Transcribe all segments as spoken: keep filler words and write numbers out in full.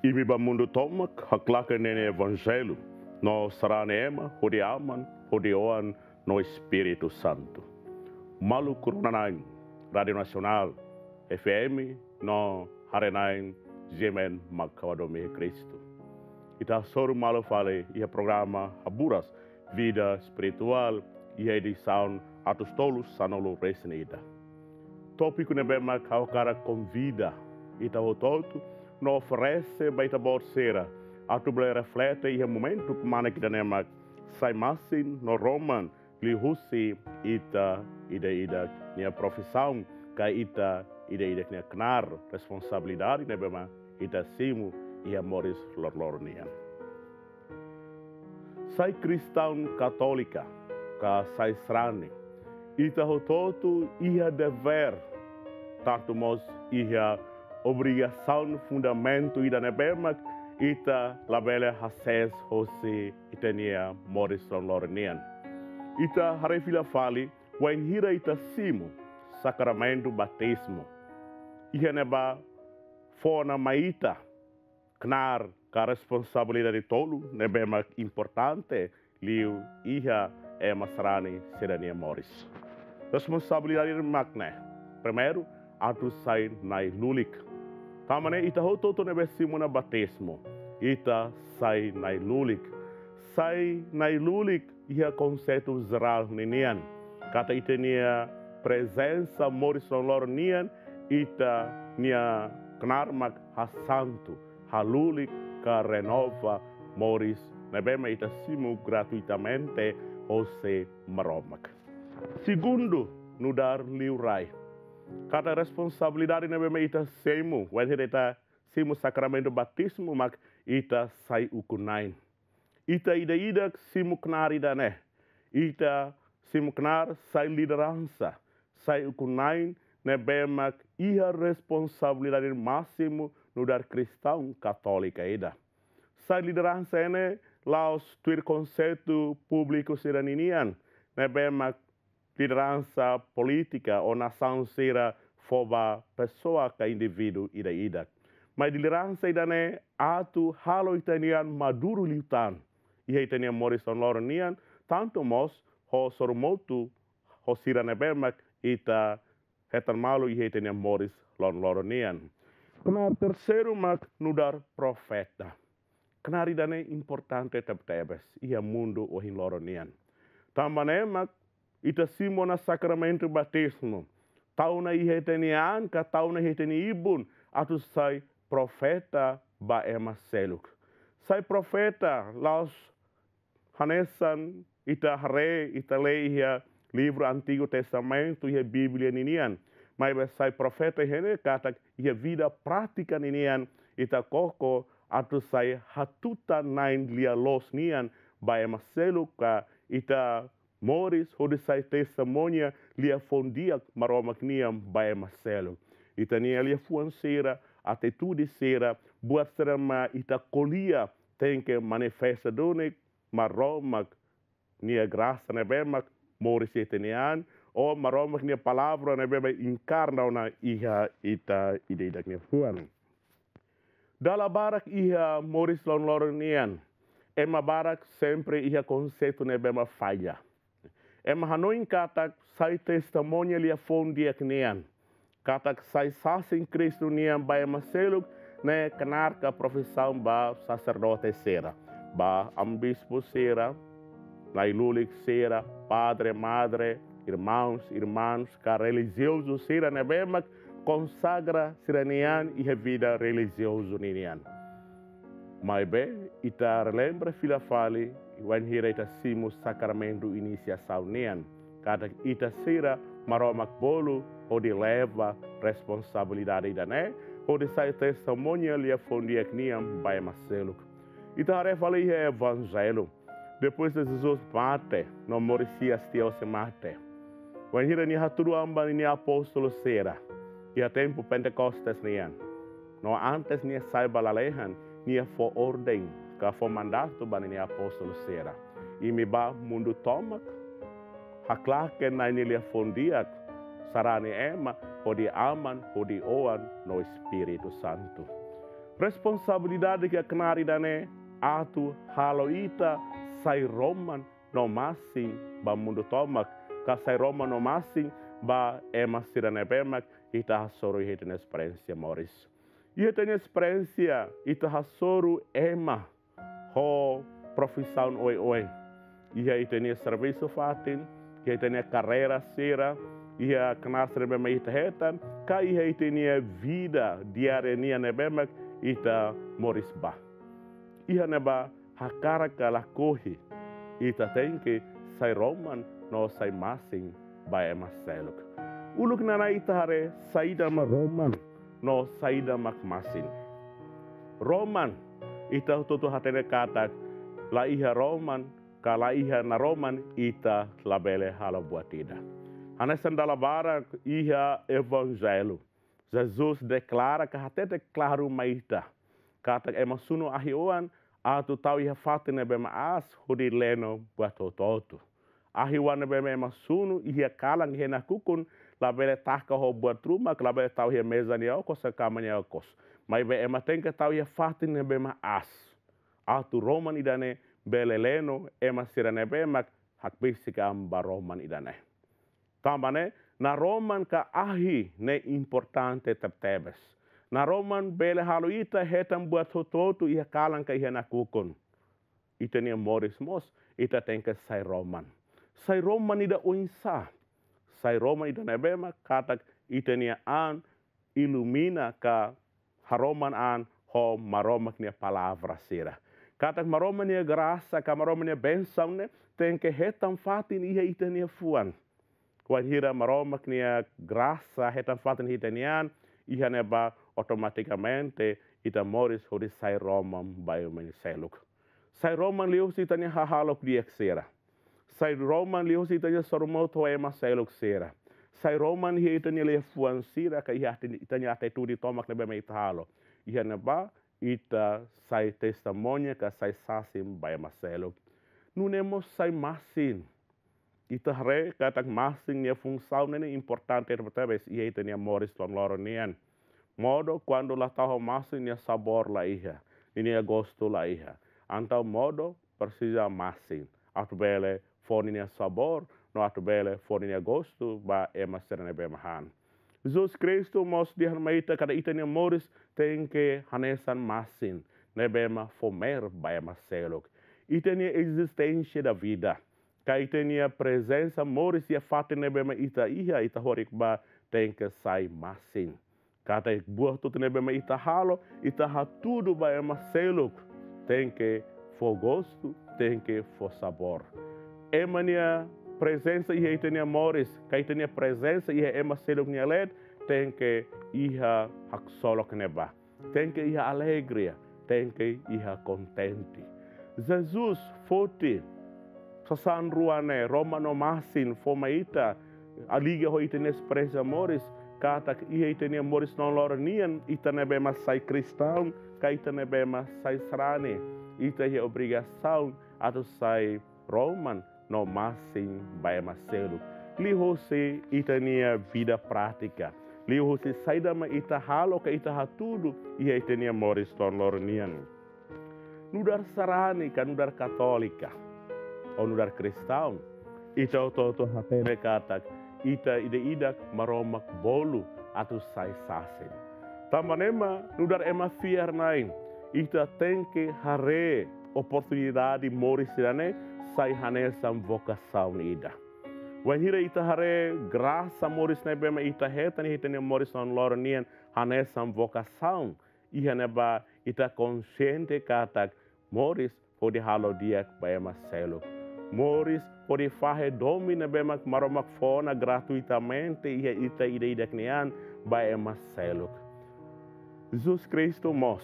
Imi bá mundu tomak haklaken Na'i nia Evanjellu, no sarani ema hodi Aman, hodi Oan, no Espíritu Santu. Maluk rona-na'in, Rádiu Nasionál, F M, no haree-na'in, G M N mak ha'u hadomi iha Kristu. Ita hasoru malu fali iha programa Haburas Vida Espirituál, iha edisaun atus tolu sanulu resin ida. Tópiku ne'ebé mak ha'u hakarak konvida ita hotu-hotu no oferese ba ita-boot sira atu bele reflete iha momentu kmanek ida-ne'e mak sai masin no roman liuhusi ita ida-idak nia profisaun, ka ita ida-idak nia knaar, responsabilidade ne'ebé mak ita simu iha moris loroloron nian. Sai kristaun katólika, ka sai sarani, ita hotu-hotu iha devér, tantu mós iha obrigasaun fundamentu ida ne'ebé mak ita labele hasees hosi ita-nia moris loroloron nian. Ita haree fila fali, wainhira ita simu sakramentu batizmu, iha ne'ebá fó ona mai ita knaar ka responsabilidade tolu ne'ebé mak importante liu iha ema sarani sira-nia moris. Responsabilidade mak ne'e: primeiru, atu sai na'i-lulik. Tanba ne'e ita hotu-hotu ne'ebé simu ona batizmu, ita sai na'i-lulik. Sai na'i-lulik iha konseitu jerál ninian, katak ita-nia prezensa moris loroloron nian, ita-nia knaar mak hasantu, halulik ka renova moris ne'ebé mak ita simu gratuitamente hosi Maromak. Segundu, nu'udar liurai, katak responsabilidade ne'ebé mak ita simu wainhira ita simu sakramentu batizmu mak ita sai ukun-na'in. Ita ida-idak simu knaar ida-ne'e. Ita simu knaar sai lideransa, sai ukun-na'in ne'ebé mak iha responsabilidade másimu nu'udar kristaun katólika ida. Sai lideransa ne'e la'ós tuir konseitu públiku sira ninian, ne'ebé mak lideransa polítika ou nasaun sira fó ba pesoa ka indivíduu ida-idak. Maibé lideransa ida-ne'e atu halo ita-nian maduru liután iha ita-nia moris loroloron nian, tantu mós ho sorumutu ho sira ne'ebé mak ita hetan malu iha ita-nia moris loroloron nian. Knaar terseiru mak nu'udar profeta. Knaar ida-ne'e importante tebetebes iha mundu ohin loron nian. Tanba ne'e mak ita simu ona sakramentu batizmu, tau ona iha ita-nia an ka tau ona iha ita-nia ibun atu sai profeta ba ema seluk. Sai profeta la'ós hanesan ita haree, ita lee iha livru Antigu Testamentu, iha Bíblia ninian. Maibé sai profeta iha ne'e katak iha vida prátika ninian ita koko atu sai hatutan-na'in lia-loos nian ba ema seluk ka ita moris hodi sai testemuña liafuan di'ak Maromak nian ba ema seluk. Ita-nia liafuan sira, atitude sira, buat sira mak ita ko'alia tenke manifesta duni Maromak nia grasa ne'ebé mak moris iha ita-nia an, ou Maromak nia palavra ne'ebé mak enkarna ona iha ita ida-idak nia fuan. Dala barak iha moris loroloron nian, ema barak sempre iha konseitu ne'ebé mak falla. Ema hanoin katak sai testemuña liafuan di'ak nian, katak sai sasin Kristu nian ba ema seluk ne'e knaar ka profisaun ba saserdote sira, ba amu-bispu sira, na'i-lulik sira, padre, madre, irmãos, irmãs, ka relijiozu sira ne'ebé mak konsagra sira-nia an iha vida relijiozu ninian. Maibé, ita relembra fila fali, wainhira ita simu sakramentu inisiasaun nian, katak ita sira Maromak bolu hodi leva responsabilidade ida-ne'e, hodi sai testemuña liafuan di'ak nian ba ema seluk. Ita haree fali iha Evanjellu, depois de Jesus mate, no moris hi'as tiha hosi mate, wainhira nia hatudu an ba ninia apóstolu sira iha tempu Pentekostes nian, no antes nia sai ba lalehan, nia fó orden ka fó mandatu ba ninia apóstolu sira: imi bá mundu tomak, haklaken Na'i nia liafuan di'ak, sarani ema hodi Aman, hodi Oan, no Espíritu Santu. Responsabilidade ke knaar ida-ne'e atu halo ita sai roman no masin ba mundu tomak, ka sai roman no masin ba ema sira ne'ebé mak ita hasoru iha ita-nia esperiénsia moris. Iha ita-nia esperiénsia, ita hasoru ema ho profisaun oioin. Iha ita-nia servisu fatin, iha ita-nia karreira sira, iha knaar sira ne'ebé mak ita hetan, ka iha ita-nia vida diária nian ne'ebé mak ita moris ba. Iha ne'ebá hakarak ka lakohi, ita tenke sai roman no sai masin ba ema seluk. Uluk nanain ita haree saida mak roman no saida mak masin. Roman, ita hotu-hotu hatene katak la iha roman, ka la iha naroman ita labele halo buat ida. Hanesan dala barak iha Evanjellu, Jesus deklara ka hatete klaru mai ita katak ema sunu ahi-oan atu tau iha fatin ne'ebé mak aas hodi leno buat hotu-hotu. Ahi-oan ne'ebé mak ema sunu iha kalan iha nakukun labele taka ho buat ruma, labele tau iha meza nia okos ka kama nia okos. Maibé ema tenke tau iha fatin ne'ebé mak aas, atu roman ida-ne'e bele leno ema sira ne'ebé mak hakbesik an ba roman ida-ne'e. Tanba ne'e, naroman ka ahi ne'e importante tebetebes. Naroman bele halo ita hetan buat hotu-hotu iha kalan ka iha nakukun. Ita-nia moris mós, ita tenke sai roman. Sai roman ida oinsá? Sai roman ida ne'ebé mak katak ita-nia an ilumina ka haroman an ho Maromak nia palavra sira. Katak Maromak nia grasa ka Maromak nia bensaun ne'e tenke hetan fatin iha ita-nia fuan. Wainhira Maromak nia grasa hetan fatin iha ita-nia an, iha ne'ebá automatikamente ita moris hodi sai roman ba ema seluk. Sai roman liuhusi ita-nia hahalok di'ak sira. Sai roman liuhusi ita-nia sorumutu ho ema seluk sira. Sai roman iha ita-nia liafuan sira ka iha ita-nia atitude tomak ne'ebé mak ita halo. Iha ne'ebá ita sai testemuña ka sai sasin ba ema seluk. Nune'e mós sai masin. Ita haree katak masin nia funsaun ne'e importante tebetebes iha ita-nia moris loron-loron nian. Modo kuandu la tau ho masin, nia sabór la iha, ninia gostu la iha. Entaun modo presiza masin atu bele fó ninia sabór, no atu bele fó ninia gostu ba ema sira ne'ebé mak han. Jesus Kristu mós dehan mai ita katak ita-nia moris tenke hanesan masin ne'ebé mak fó meel ba ema seluk. Ita-nia existência da vida, ka ita-nia prezensa moris iha fatin ne'ebé mak ita iha, ita horik ba, tenke sai masin. Katak buat hotu-hotu ne'ebé mak ita halo, ita hatudu ba ema seluk, tenke fó gostu, tenke fó sabór. Ema nia prezensa iha ita-nia moris, ka ita-nia prezensa iha ema seluk nia leet, tenke iha haksolok ne'ebá. Tenke iha alegria, tenke iha kontente. Jesus foti sasán rua ne'e, roman no masin, fó mai ita, liga ho ita-nia esperiénsia moris, katak iha ita-nia moris loron-loron nian, ita ne'ebé mak sai kristaun, ka ita ne'ebé mak sai sarani, ita iha obrigasaun atu sai roman no masin ba ema seluk. Liuhusi ita-nia vida prátika, liuhusi saida mak ita halo ka ita hatudu iha ita-nia moris loron-loron nian. Nu'udar sarani ka nu'udar katólika, ou nu'udar kristaun, ita hotu-hotu hatene katak ita ida-idak Maromak bolu atu sai sasin. Tanba ne'e mak nu'udar ema fiar-na'in, ita tenke haree oportunidade moris sira-ne'e sai hanesan vokasaun ida. Wainhira ita haree grasa moris ne'ebé mak ita hetan iha ita-nia moris loron-loron nian hanesan vokasaun, iha ne'ebá ita konsiente katak moris hodi halo di'ak ba ema seluk. Moris hodi fahe domin ne'ebé mak Maromak fó ona gratuitamente iha ita ida-idak nian ba ema seluk. Jesus Kristu mós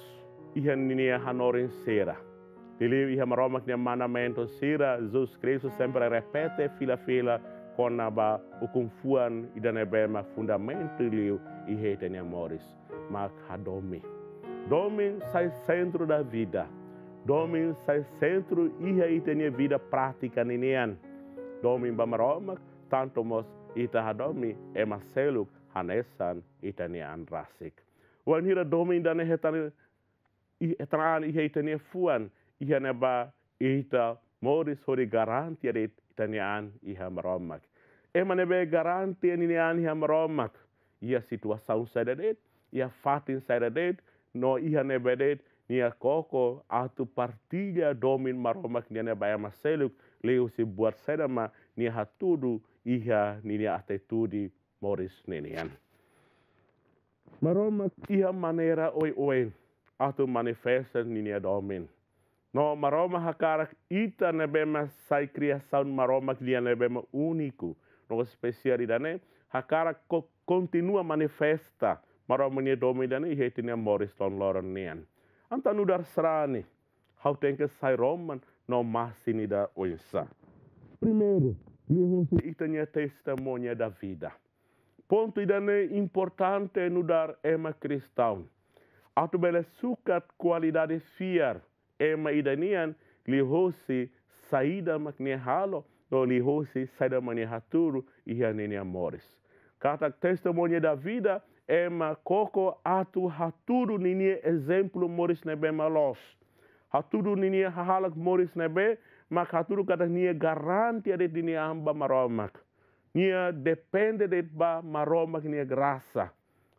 iha ninia hanorin sira. Liuliu iha Maromak nia mandamentu sira, Jesus Kristu sempre repete fila-fila kona-ba ukun-fuan ida ne'ebé mak fundamentu liu iha ita-nia moris, mak hadomi. Domin sai sentru da vida. Domin sai sentru iha ita-nia vida prátika ninian. Domin ba Maromak, tantu mós ita hadomi ema seluk hanesan ita-nia an rasik. Wainhira domin ida-ne'e hetan i-, tan an iha ita-nia fuan, iha ne'ebá ita moris hodi garante de'it ita-nia an iha Maromak. Ema ne'ebé garante ninia an iha Maromak, iha situasaun saida de'it, iha fatin saida de'it, no iha ne'ebé de'it, nia koko atu partilla domin Maromak nian ba ema seluk, liuhusi buat saida mak nia hatudu iha ninia atitude moris ninian. Maromak iha maneira oioin atu manifesta ninia domin. No Maromak hakarak ita ne'ebé mak sai kriasaun Maromak nian ne'ebé mak úniku no espesiál ida-ne'e, hakarak ko-, kontinua manifesta Maromak nia domin ida-ne'e iha ita-nia moris loroloron nian. Entaun nu'udar sarani, ha'u tenke sai roman no masin ida oinsá? Primeiru, liuhusi ita-nia testemuña da vida. Pontu ida-ne'e importante nu'udar ema kristaun. Atu bele sukat kualidade fiar ema ida nian, liuhusi saida mak nia halo, no liuhusi saida mak nia hatudu iha ninia moris. Katak testemuña da vida, ema koko atu hatudu ninia ezemplu moris ne'ebé mak loos. Hatudu ninia hahalok moris ne'ebé mak hatudu katak nia garante de'it ninia an ba Maromak. Nia depende de'it ba Maromak nia grasa.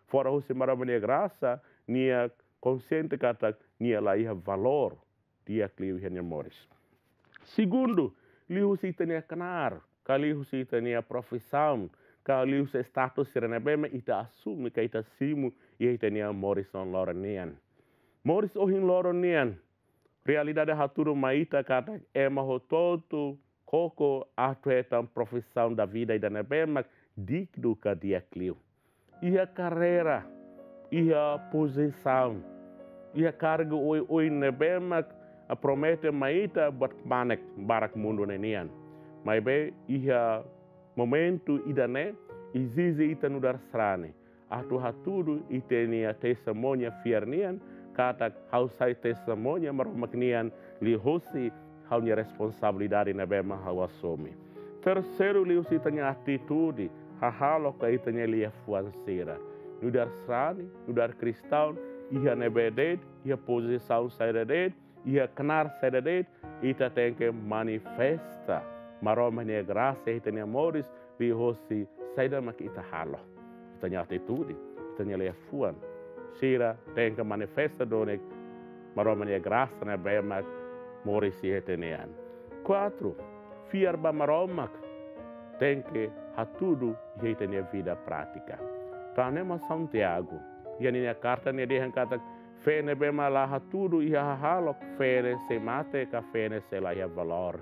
Fora husi Maromak nia grasa, nia konxiente katak nia la iha valór di'ak liu iha nia moris. Segundu, liuhusi ita-nia knaar, ka liuhusi ita-nia profisaun, ka liuhusi status sira ne'ebé mak ita asume ka ita simu iha ita-nia moris loroloron nian. Moris ohin loron nian, realidade hatudu mai ita katak ema hotu-hotu koko atu hetan profisaun da vida ida ne'ebé mak dignu ka di'ak liu. Iha karreira, iha pozisaun, iha kargu oioin ne'ebé mak promete mai ita buat kmanek barak mundu ne'e nian. Maibé iha momentu ida-ne'e ezije ita nu'udar sarani atu hatudu ita-nia testemuña fiar nian, katak ha'u sai testemuña Maromak nian liuhusi ha'u-nia responsabilidade ne'ebé mak ha'u asume. Terseiru, liuhusi ita-nia atitude, hahalok ka ita-nia liafuan sira. Nu'udar sarani, nu'udar kristaun, iha ne'ebé de'it, iha pozisaun saida de'it, iha knaar saida de'it, ita tenke manifesta Maromak nia grasa iha ita-nia moris liuhusi saida mak ita halo. Ita-nia atitude, ita-nia liafuan sira tenke manifesta duni Maromak nia grasa ne'ebé mak moris iha ita-nia an. Kuatru, fiar ba Maromak tenke hatudu iha ita-nia vida prátika. Tan ne'e mak São Tiago iha ninia karta nia dehan katak, fé ne'ebé mak la hatudu iha hahalok, fé ne'e sei mate ka fé ne'e sei la iha valór.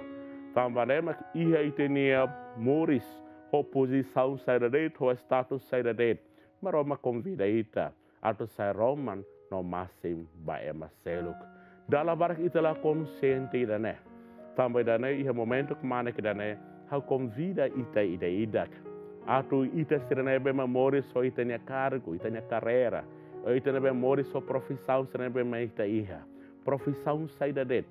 Tanba ne'e mak iha ita-nia moris, ho pozisaun saida de'it, ho status saida de'it, Maromak konvida ita atu sai roman no masin ba ema seluk. Dala barak ita la konxiente ida-ne'e. Tanba ida-ne'e iha momentu kmanek ida-ne'e, ha'u konvida ita ida-idak atu ita sira ne'ebé mak moris ho ita-nia kargu, ita-nia karreira, ita ne'ebé moris ho profisaun sira ne'ebé mak ita iha. Profisaun saida de'it,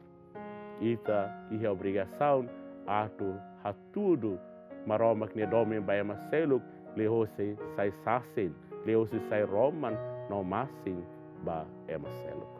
ita iha obrigasaun atu hatudu Maromak nia domin ba ema seluk, liuhusi sai sasin, liuhusi sai roman no masin ba ema seluk.